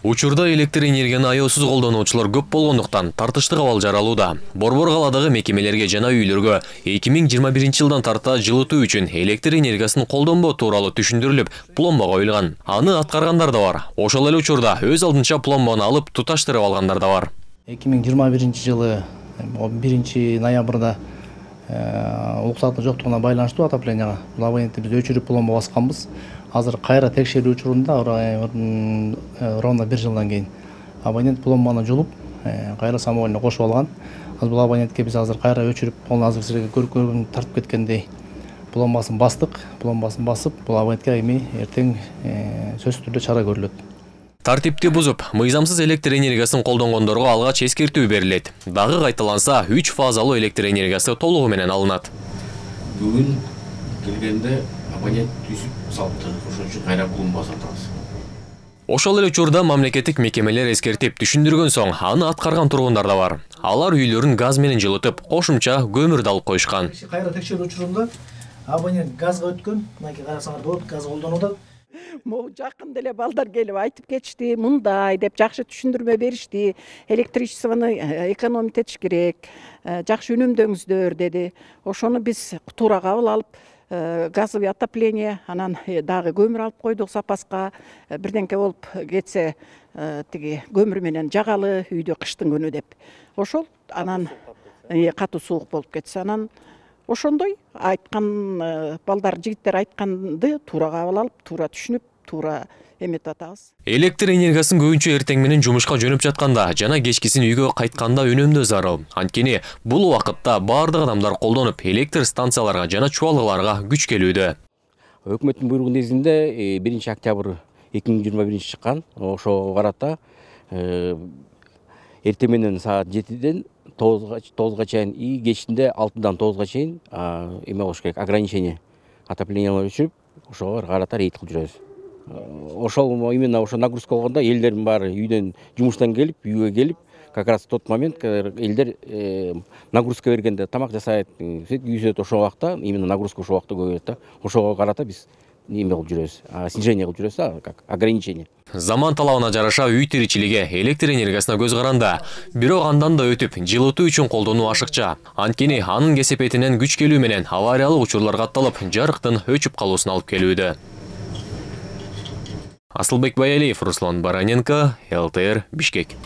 Учурда электр энергияны аяосуз колдонуучулар көп болгондуктан тартыштык абал жаралууда. Борбор каладагы мекемелерге жана үйлөргө 2021 жылдан тарта жылытуу үчүн электр энергиясын колдонбоо тууралуу түшүндүрүлүп, пломба коюлган. Аны аткаргандар да бар. Ошол эле учурда өз алдынча пломбаны алып туташтырып алгандар да бар. 2021 жылы 1 ноябрда уруксаты жоктугуна байланыштуу отопленияга бул абонентти биз өчүрүп пломба басканбыз. Азыр кайра текшерүү учурунда ровно 1 жылдан кийин абонент пломбаны жулуп, кайра самоольно кошуп алган. Бул абонентке биз азыр кайра өчүрүп, ал азыр силерге көрүп тартып кеткендей пломбасын бастык. Пломбасын басып, бул абонентке эми эртең сөзсүз түрдө чара көрүлөт. Тартипти бузуп, мыйзамсыз электр энергиясын колдонгондорго алгач эскертүү берилет. Дагы кайталанса, 3 фазалуу электр энергиясы толугу менен алынат. Бүгүн келгенде абонент түзүп салыпты, ошон үчүн кайра пломба сатабыз. Ошол эле учурда мамлекеттик мекемелер эскертип түшүндүргөн соң, аны аткарган тургундар да бар. Алар үйлөрүн газ менен жылытып, кошумча көмүрдү алып коюшкан. Кайра текшерүү учурунда абонент газга өткөн, мынакей карасаңар болот, газ колдонууда. Могу жакында эле балдар келип айтып кетишти, мындай деп жакшы түшүндүрмө беришти. Электричествону экономить этиш керек, жакшы үнөмдөңүздөр деди. Ошону биз туура кабыл алып, газовый отопление, анан дагы көмүр алып койдук запаска. Бирденке болуп кетсе, тиги көмүр менен жагалы үйдө кыштын күнү деп. Ошол анан катуу суук болуп кетсе, анан ошондой айткан балдар, жигиттер айтканды туура кабыл алып, туура түшүнүп, туура эметип атабыз. Электр энергиясын көбүнчө эртең менен жумушка жөнөп жатканда жана кечкисин үйгө кайтканда үнөмдөө зарыл. Анткени бул убакытта бардык адамдар колдонуп, электр станцияларга жана чубалгыларга күч келүүдө. Өкмөттүн буйругу негизинде 1 октябрь 2021 чыккан. Ошого карата эртең менен саат 7ден 9га чейин и кечинде 6дан 9га чейин эме болуш керек, ограничение отоплениялар өчүрүп, ошого карата рейд кылып жүрөбүз. Ошол именно ошо нагрузка болгондо элдердин баары үйдөн жумуштан келип, үйгө келип, как раз тот момент элдер нагрузка бергенде тамак жасайт, үйсөт, ошол убакта именно нагрузка ошол убакта көбөйөт да. Ошого карата биз эме кылып жүрөбүз, снижение кылып жүрөбүз, как ограничение. Заман талабына жараша үй тиричилиги электр энергиясына көз каранда, бирок андан да өтүп, жылытуу үчүн колдонуу ашыкча. Анткени анын кесепетинен күч келүү менен авариялык учурлар катталып, жарыктын өчүп калуусуна алып келүүдө. Асылбек Баялиев, Руслан Бараненко, ЛТР, Бишкек.